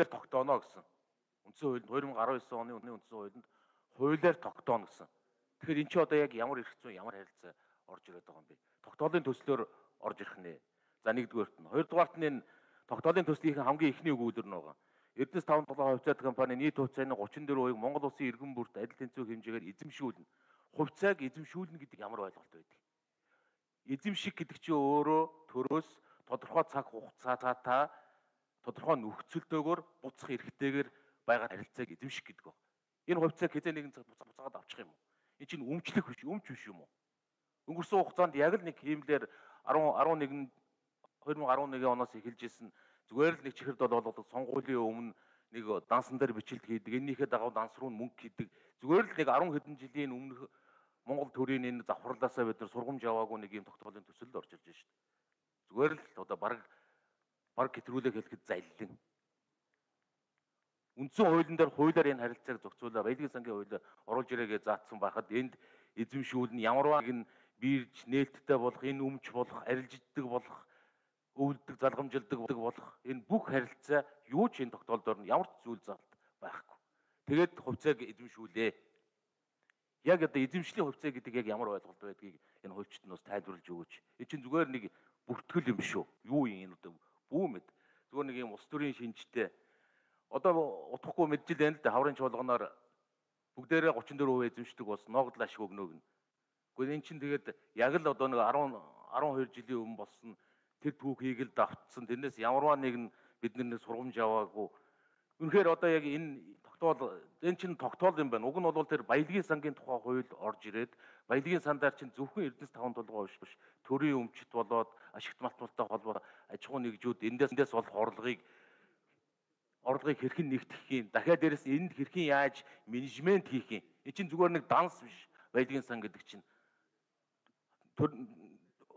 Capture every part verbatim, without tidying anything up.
хуулиар тогтооно гэсэн. Үндсэн хуулинд two thousand nineteen оны үнэний үндсэн хуулинд хуулиар тогтооно гэсэн. Тэгэхээр эн чинь одоо яг ямар эрх зүйн ямар харилцаа орж ирээд байгаа юм бэ? Тогтоолын төслөөр орж ирэх нэ. За нэгдүгээрт нь. Хоёрдугаарт нь энэ тогтоолын төслийн хамгийн ихний өгүүлбэр нь байгаа. Эрдэнэс таван долоо хувьцаат компани нийт хувьцааны thirty-four хувийг Монгол улсын иргэн бүрт адил тэнцвэр хэмжээгээр эзэмшүүлнэ. Хувьцааг эзэмшүүлнэ гэдэг ямар ойлголт байдаг? Эзэмших гэдэг чинь өөрөө төрөөс тодорхой цаг хугацаатай тодорхой нөхцөлтэйгээр буцах эрхтэйгээр байгаа харилцааг эзэмших гэдэг байна. Энэ хувьцааг хэзээ нэгэн цаг буцаагаад авчих юм уу? Энэ чинь өмчлөх биш, өмч биш юм уу? Өнгөрсөн хугацаанд яг л нэг хиймлэр eleven twenty eleven оноос эхэлж исэн зүгээр л нэг чихэр дол болоод сонгуулийн өмнө нэг дансан дээр бичлэг хийдэг, энэнийхээ дагав данс руу мөнгө хийдэг. Зүгээр л нэг ten хэдэн жилийн өмнөх Монгол төрийн энэ завхарлаасаа бид нар сургамж аваагүй нэг юм тогтоолын төсөлд орж ирж шүү дээ. Зүгээр л одоо баг баг хэтрүүлэг хэлэхэд заллин. Үндсэн хуулийн дээр хуулиар энэ харилцааг зохицуулаад баялагын сангийн хуулиар оруулж ирээгээ заасан байхад энд эзэмшүүлнэ ямарваа нэг нь бирж нээлттэй болох, энэ өмч болох, арилжиддаг болох, өвлөдөг, залгамжилдаг болох энэ бүх харилцаа юу ч энэ тогтоолдоор нь ямар ч зүйл заалт байхгүй. Тэгээд хувьцааг эзэмшүүлээ. Яг одоо эзэмшлийн хувьцаа гэдэг яг ямар ойлголт байдгийг энэ хуульчид нь бас тайлбарлаж өгөөч. Энэ чинь зүгээр нэг бүртгэл юм шүү. Юу юм энэ одоо бүүмэд. Зүгээр нэг юм улс төрийн шинжтэй. Одоо утгахгүй мэджил байна л да хаврын чуулганаар бүгдээрээ thirty-four percent эзэмшдэг бас ногдол ашиг өгнөг нь. Гэхдээ эн чинь тэгээд яг л одоо нэг twelve жилийн өмнө болсон тэр түүхийг л давтсан. Тэрнээс ямарваа нэг нь биднээс сургамж аваагүй. Үнэхээр одоо яг энэ тогтоол энэ чинь тогтоол юм байна. Уг нь бол тэр баялагын сангийн тухай хууль орж ирээд баялагын сандаар чинь зөвхөн Эрдэнэс таван толгой биш биш. Төрийн өмчт болоод ашигт малтмалтай холбоо аж ахуйн нэгжүүд эндээс эндээс болох орлогыг орлогыг хэрхэн нэгтгэх юм. Дахиад дээрэс энд хэрхэн яаж менежмент хийх юм. Энэ чинь зүгээр нэг данс биш. Баялагын сан гэдэг чинь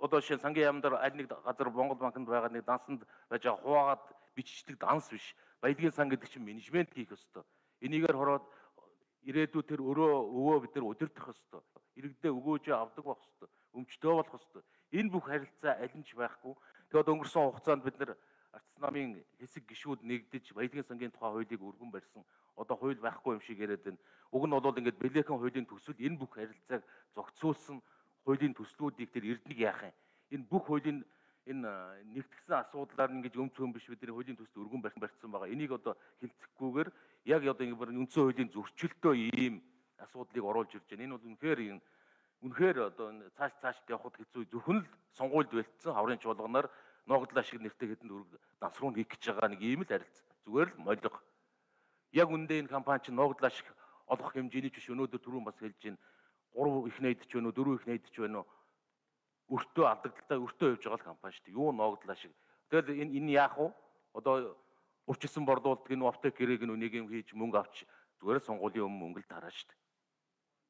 одоо шин сангийн яамдар аль нэг газар Монгол банкнд байгаа нэг дансанд байж байгаа хуваагаад биччихдэг данс биш. Баялагын сан гэдэг чинь менежмент хийх ёстой. Энийгээр хороод ирээдүйд тэр өрөө өвөө бид нар удирдах ёстой. Иргэдээ өгөөж авдаг байх ёстой. Өмчтөө болох ёстой. Энэ бүх харилцаа аль нь ч байхгүй. Тэгээд өнгөрсөн хугацаанд бид нар Ардс намын хэсэг гишүүд нэгдэж баялагын сангийн тухай хуулийг өргөн барьсан. Одоо хууль байхгүй юм шиг яриад байна. Уг нь бол ингээд Бэлэхэн хуулийн төсөл энэ бүх харилцааг зохицуулсан хуулийн төслүүдийг тэр эрдэнэг яах юм. Энэ бүх хуулийн энэ нэгтгсэн асуудлаар ингэж өмч хөм биш бидний хуулийн төсөл өргөн барьсан байгаа. Энийг одоо хилцэхгүйгээр яг одоо ингэ үндсэн хуулийн зөрчилтөө ийм асуудлыг оруулж ирж байна. Энэ бол үнэхээр үнэхээр одоо цааш цааш явахд хэцүү. Зөвхөн л сонгуульд бэлдсэн хаврын чуулганаар ногдлоо шиг нэртэй хэдэн дөрөв данс руу хийх гэж байгаа нэг ийм л харилцаа. Зүгээр л молиг. Яг үндэ энэ компани чинь ногдлоо шиг олох хэмжээний ч биш өнөөдөр түрүүн бас хэлж байна. three их найдаж байна уу, four их найдаж байна уу? Өртөө алдагдaltaй өртөө явж байгаа л компани шүү дээ. Юу ногдлоо шиг. Тэгэл энэ энэ яах вэ? Одоо урчилсан борлуулдаг энэ аптек гэрээг нь нэг юм хийж мөнгө авч зүгээр сонгуулийн өмнө мөнгө л тараа шүү дээ.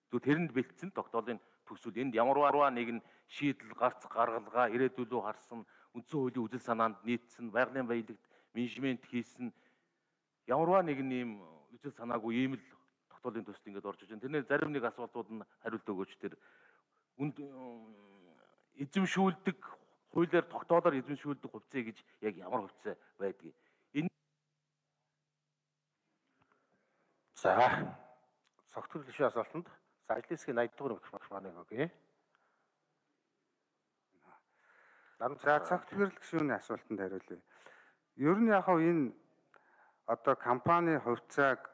Тэгвэл тэрэнд бэлдсэн тогтоолын төсөл энд ямарваа нэг нь шийдэл гарц гаргалгаа ирээдүйлөө харсан үндсэн хуулийн үзэл санаанд нийцсэн байгалийн баялагт менежмент хийсэн ямарваа нэг нэм үзэл санаагүй ийм л тогтоолын төсөл ингээд орж иж байна. Тэрнээ зарим нэг асуултууд нь хариулт өгөөч. Тэр үнд эзэмшүүлдэг хуулиар тогтоолоор эзэмшүүлдэг хувьцаа гэж яг ямар хувьцаа байдгийг энэ за согтгол гишүүн асуултанд за ажлын хэсгийн eighty дугаар микрофоныг өгье. За согтгол гишүүний асуултанд хариулъя. Ер нь яг энэ одоо компани хувьцааг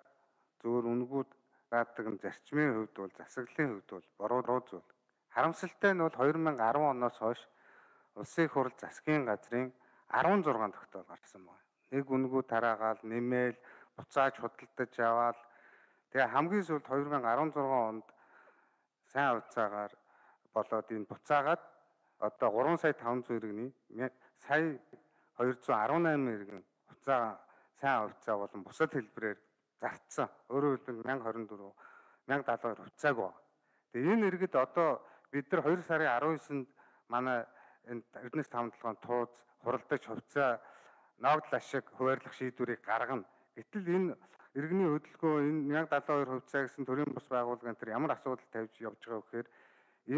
зөвөр үнгүүд гаадаг нь зарчмын хувьд бол засаглалын хувьд бол буруу зүйл. Харамсалтай нь бол two thousand ten оноос хойш улсын их хурл засгийн газрын sixteen тогтоол гарсан байна. Нэг үнгүү тараагаал, нэмээл, буцааж худалдаж аваад тэгээ хамгийн сүүлд two thousand sixteen онд сайн хувьцаагаар болоод энэ буцаагаад одоо three сая five hundred иргэний сая two hundred eighteen иргэн хувьцаа сайн хувьцаа болон бусад хэлбэрээр зарцсан. Өөрөөр хэлбэл one thousand twenty-four, one thousand seventy-two хувьцааг ба. Тэгээ энэ иргэд одоо бид нар two сарын nineteнд манай энэ Эрдэнэс таван толгойн тууз хуралдаж хувьцаа ногдол ашиг хуваарлах шийдвэрийг гаргана. Гэтэл энэ иргэний хөдөлгөөн энэ one thousand seventy-two хувьцаа гэсэн төрийн бус байгууллагын тэр ямар асуудал тавьж явж байгаа вэ гэхээр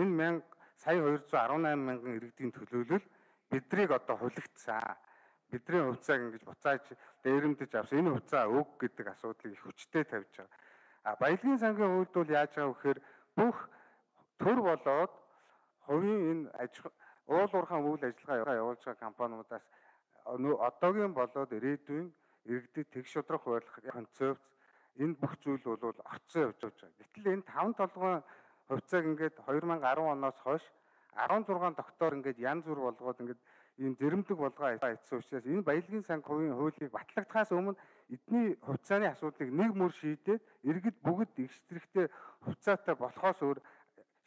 энэ сая two hundred eighteen мянган иргэдийн төлөөлөл биднийг одоо хулигдсан. бидний хувьцааг ингэж буцааж дээрэмдэж авсан энэ хувьцаа өг гэдэг асуудлыг их хүчтэй тавьж байгаа. А баялагын сангийн хувьд бол яаж байгаа вэ гэхээр бүх төр болоод хувийн энэ аж уул уурхайн үйл ажиллагаа явуулж байгаа компаниудаас одоогийн болоод ирээдүйн иргэдэд тэгш шудрах барилах концепц энэ бүх зүйл бол орцсон явж байгаа. Гэтэл энэ таван толгойн хувьцааг ингээд хоёр мянга арван оноос хойш арван зургаан доктор ингээд янз бүр болгоод ингээд ийм зэрэмдэг болгоо айтсан учраас энэ баялагын санги хувийн хуулийг батлагдахаас өмнө эдний хувьцааны асуудлыг нэг мөр шийдээд иргэд бүгд их зэрэгтэй хувьцаатай болохоос өөр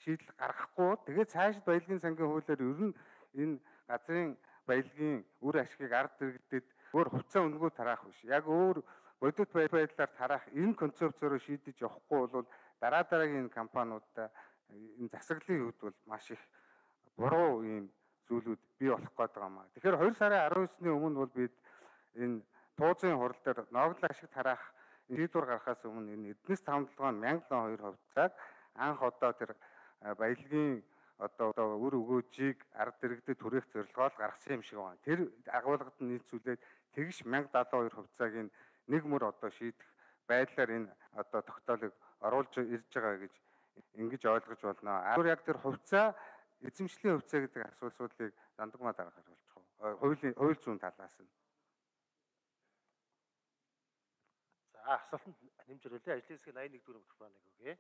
шийдэл гаргахгүй. Тэгээд цаашид баялагын сангийн хуулиар ер нь энэ газрын баялагын үр ашгийг ард иргэдэд өөр хувьцаа өнгөө тараах биш. Яг өөр бодит байдлаар тараах энэ концепцөөрөө шийдэж явахгүй бол дараа дараагийн компаниудаа энэ засаглалын үед бол маш их буруу ийм зүйлүүд бий болох гээд байгаа маа. Тэгэхээр хоёр сарын арван есний өмнө бол бид энэ туузын хурал дээр ногдол ашиг тараах шийдвэр гаргахаас өмнө энэ эднэс тавталгаан мянга хоёр хувьцааг анх одоо тэр баялагын одоо одоо үр өгөөжийг ард иргэдэд түрээх зорилгоор гаргасан юм шиг байна. Тэр агуулгад нь нийцүүлээд тэгш мянга даатан хоёр хувьцааг нь нэг мөр одоо шийдэх байдлаар энэ одоо тогтоолыг оруулж ирж байгаа гэж ингэж ойлгож байна. Өөр яг тэр хувьцаа эзэмшлийн хувьцаа гэдэг асуудлыг дандагмаа дараагаар болж байгаа. Хуулийн хууль зүйн талаас нь. За асуултанд нэмж өрөөлөө. Ажлын хэсгийн аян нэг дөрөв микрофоныг өгье.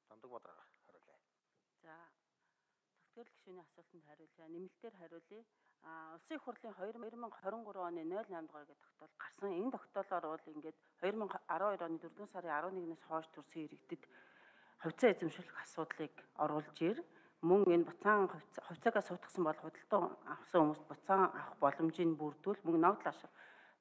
Дандагмаа дараагаар хариулъя. За зөвхөн гишүүний асуултанд хариулъя. Нэмэлтээр хариулъя. А улсын их хурлын хоёр мянга хорин гурван оны ноль восемь дугаар гэдэг тогтоол гарсан. Энэ тогтоолоор бол ингээд хоёр мянга арван хоёр оны дөрөвдүгээр сарын арван нэгнээс хойш төрсэн иргэдэд хувьцаа эзэмшүүлэх асуудлыг оруулж ир. Мөн энэ буцаан хувьцаагаа суудсан бол худалдан авсан хүмүүст буцаан авах боломжийг бүрдүүл мөн ногдол ашиг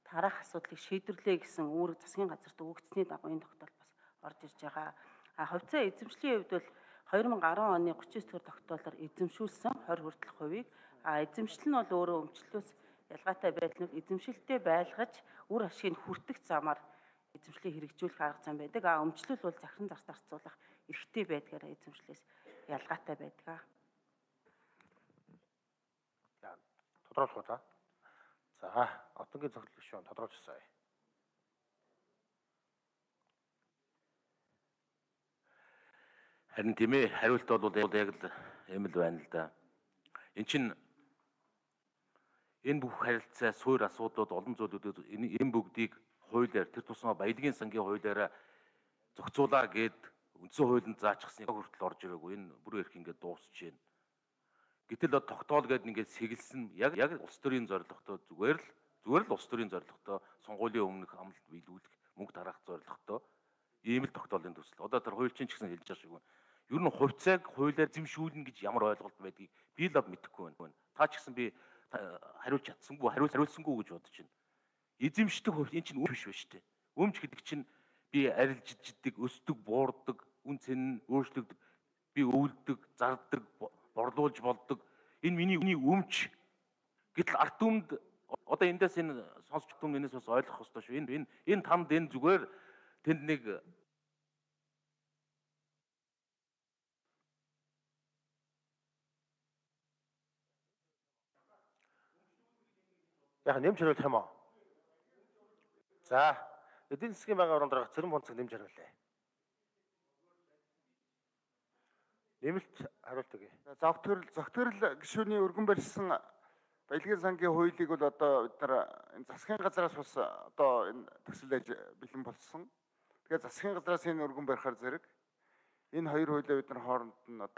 тараах асуудлыг шийдвэрлэе гэсэн үүрэг засгийн газарт өгөгдсөний дагуу энэ тогтоол бас орж ирж байгаа. А хувьцаа эзэмшлийн хувьд бол хоёр мянга арван оны гучин девять дугаар тогтоолоор эзэмшүүлсэн тwenty хүртэлх хувийг а эзэмшил нь бол өөрөө өмчлөлөөс ялгаатай байдал нь эзэмшилтэй байлгаж үр ашгийг хүртэх замаар эзэмшлийг хэрэгжүүлэх арга зам байдаг. А өмчлөл бол захиран зарц зарцуулах эрхтэй байдгаараа эзэмшлээс ялгаатай байдаг. За тодруулах уу та? За одоогийн зөвлөл гишүүн тодруулж өгсөй. Харин тийм ээ, хариулт бол яг л юм л байна л да. Эн чинь энэ бүх харилцаа, суур асуудлууд, олон зүйлүүд энэ бүгдийг хуулиар, тэр тусмаа баялагын сангийн хуулиараа зохицуулаа гэд үндсэн хуулинд заачсан хүртэл орж ирээгүй. Энэ бүр их ингээд дуусч байна. Гэтэл одоо тогтоол гэдэг ингээд сэгэлсэн яг яг улс төрийн зорилготой зүгээр л зүгээр л улс төрийн зорилготой сонгуулийн өмнөх амлалт биелүүлэх мөнгө тараах зорилготой ийм л тогтоолын төсөл. Одоо тэр хуульчин ч гэсэн хэлж байгаа шиг байна. Ер нь хувьцааг хуулиар эзэмшүүлнэ гэж ямар ойлголт байдгийг би л мэдэхгүй байна. Та ч гэсэн би хариулж чадсангүй, хариул хариулсангүй гэж бодож байна. Эзэмшдэг хувь энэ чинь өмч биш ба штэ. Өмч гэдэг чинь би арилжиддаг, өсдөг, буурдаг, үн цэн нь өөрчлөгдөг, би өвлөдөг, зардаг, борлуулж болдог. Энэ миний өмч. Гэтэл арт түмэнд одоо эндээс энэ сонсч түм энэс бас ойлгох хэрэгтэй шүү. Энэ энэ энэ танд энэ зүгээр тэнд нэг Яг нэмж хариулах юм уу? За, эдийн засгийн байнгын орон дарга Цэрэн Бонцог нэмж хариулъя. Нэмэлт хариулт өгье. Зогтгөрл зогтгөрл гишүүний өргөн барьсан баялагын сангийн хуулийг бол одоо бид нар энэ засгийн газраас бас одоо энэ төсөл бэлэн болсон. Тэгэхээр засгийн газраас энэ өргөн барихаар зэрэг энэ хоёр хуулийг бид нар хооронд нь